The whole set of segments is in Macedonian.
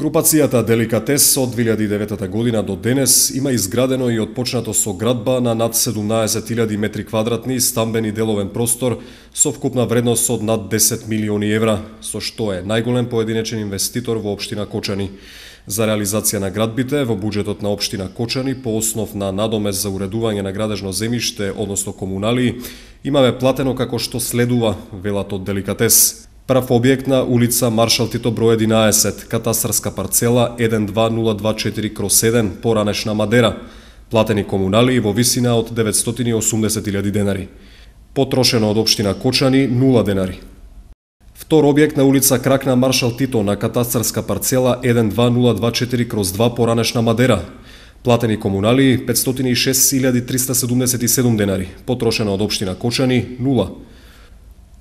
Групацијата Деликатес од 2009 година до денес има изградено и отпочнато со градба на над 17.000 метри квадратни стамбен и деловен простор со вкупна вредност од над 10 милиони евра, со што е најголем поединечен инвеститор во општина Кочани. За реализација на градбите во буџетот на општина Кочани по основ на надомес за уредување на градежно земјиште, односно комуналии, имаме платено како што следува, велат од Деликатес. Прв објект на улица Маршал Тито број 11, катастарска парцела 12024/7, поранешна Мадера. Платени комуналии во висина од 980.000 денари. Потрошено од општина Кочани 0 денари. Втор објект на улица Крак на Маршал Тито на катастарска парцела 12024/2, поранешна Мадера. Платени комуналии 506.377 денари. Потрошено од општина Кочани 0.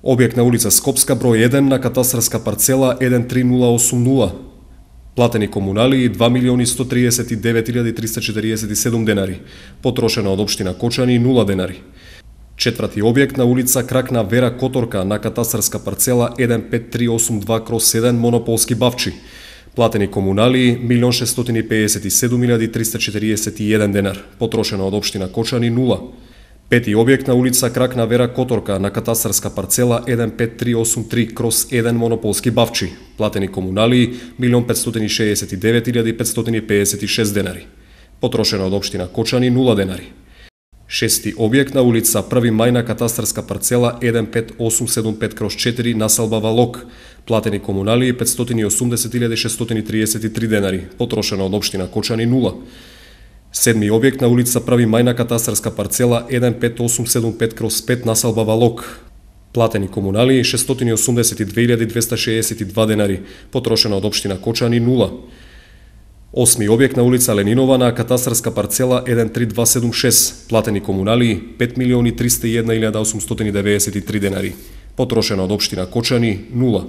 Објект на улица Скопска број 1 на катастарска парцела 13080. Платени комуналии 2.139.347 денари. Потрошено од општина Кочани 0 денари. Четврти објект на улица Крак на Вера Которка на катастарска парцела 15382/7, монополски бавчи. Платени комуналии 1.657.341 денар. Потрошено од општина Кочани 0. Пети објект на улица Крак на Вера Которка на катастарска парцела 15383/1, монополски бавчи. Платени комуналии 1.569.556 денари. Потрошено од општина Кочани 0 денари. Шести објект на улица 1 мај на катастарска парцела 15875/4, населба Валок. Платени комуналии 580.633 денари. Потрошено од општина Кочани 0. Седми објект на улица 1 мај на катастарска парцела 15875/5, населба Валок. Платени комуналии 682.262 денари. Потрошено од општина Кочани 0. Осми објект на улица Ленинова на катастарска парцела 13276. Платени комуналии 5.301.893 денари. Потрошено од општина Кочани 0.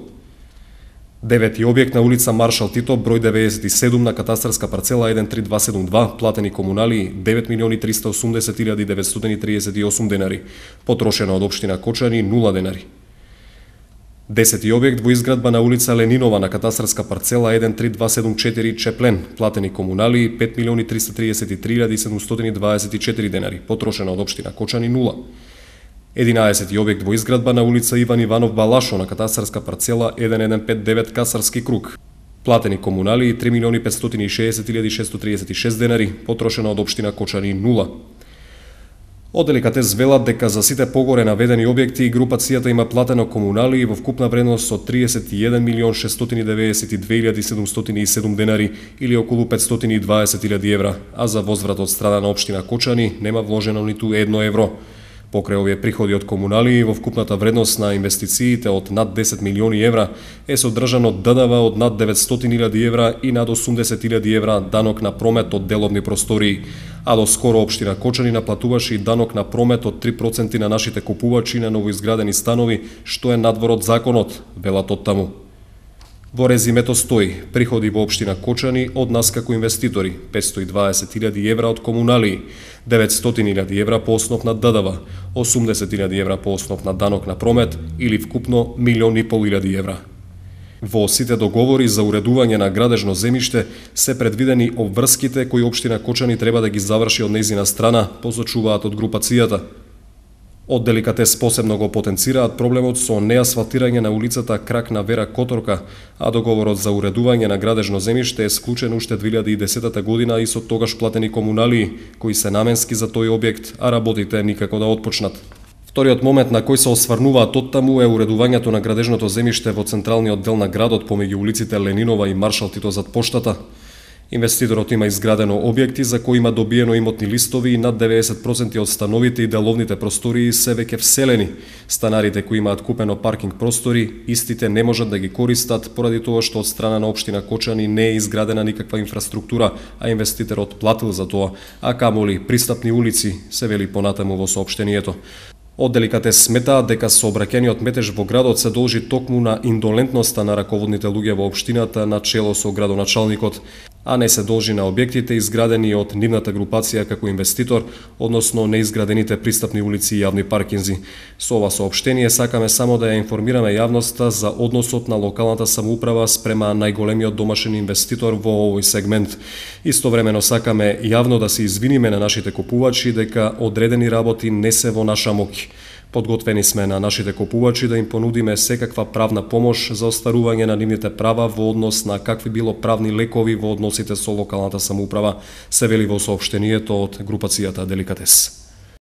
Девети објект на улица Маршал Тито број 97 на катастарска парцела 13272. Платени комуналии 9.380.938 денари. Потрошено од општина Кочани 0 денари. Десети објект во изградба на улица Ленинова на катастарска парцела 13274 Чеплен. Платени комуналии 5.333.724 денари. Потрошено од општина Кочани 0. 11 објект во изградба на улица Иван Иванов Балашо на катастарска парцела 1159 Касарски круг. Платени комуналии 3.560.636 денари. Потрошено од општина Кочани 0. Од Деликатес велат дека за сите погоре наведени објекти групацијата има платено комуналии во вкупна вредност од 31.692.707 денари или околу 520.000 евра, а за возврат од страна на општина Кочани нема вложено ниту 1 евро. Покрај овие приходи од комуналии во вкупната вредност на инвестициите од над 10 милиони евра е содржано ДДВ од над 900.000 евра и над 80.000 евра данок на промет од деловни простории, а до скоро општина Кочани наплатуваше и данок на промет од 3% на нашите купувачи на новоизградени станови, што е надвор од законот, велат од таму. Во резимето стои приходи во општина Кочани од нас како инвеститори 520.000 евра од комуналии, 900.000 евра по основ на ДДВ, 80.000 евра по основ на данок на промет или вкупно 1.500.000 евра. Во сите договори за уредување на градежно земјиште се предвидени обврските кои општина Кочани треба да ги заврши од нејзина страна, посочуваат од групацијата. Од Деликатес посебно го потенцираат проблемот со неасфалтирање на улицата Крак на Вера Которка, а договорот за уредување на градежно земјиште е склучен уште 2010 година и со тогаш платени комуналии, кои се наменски за тој објект, а работите никако да отпочнат. Вториот момент на кој се осврнуваат оттаму е уредувањето на градежното земјиште во централниот дел на градот помеѓу улиците Ленинова и Маршал Тито зад поштата. Инвеститорот има изградено објекти за кои има добиено имотни листови и над 90% од становите и деловните простории се веќе вселени. Станарите кои имаат купено паркинг простори, истите не можат да ги користат поради тоа што од страна на општина Кочани не е изградена никаква инфраструктура, а инвеститорот платил за тоа, а камоли пристапни улици, се вели понатаму во соопштението. Од Деликатес сметаат дека сообраќајниот метеж во градот се должи токму на индолентноста на раководните луѓе во општината на чело со градоначалникот. а не се должи на објектите изградени од нивната групација како инвеститор, односно неизградените пристапни улици и јавни паркинзи. Со ова соопштение сакаме само да ја информираме јавноста за односот на локалната самоуправа спрема најголемиот домашен инвеститор во овој сегмент. Истовремено сакаме јавно да се извиниме на нашите купувачи дека одредени работи не се во наша моќ. Подготвени сме на нашите купувачи да им понудиме секаква правна помош за остварување на нивните права во однос на какви било правни лекови во односите со локалната самоуправа, се вели во соопштението од групацијата Деликатес.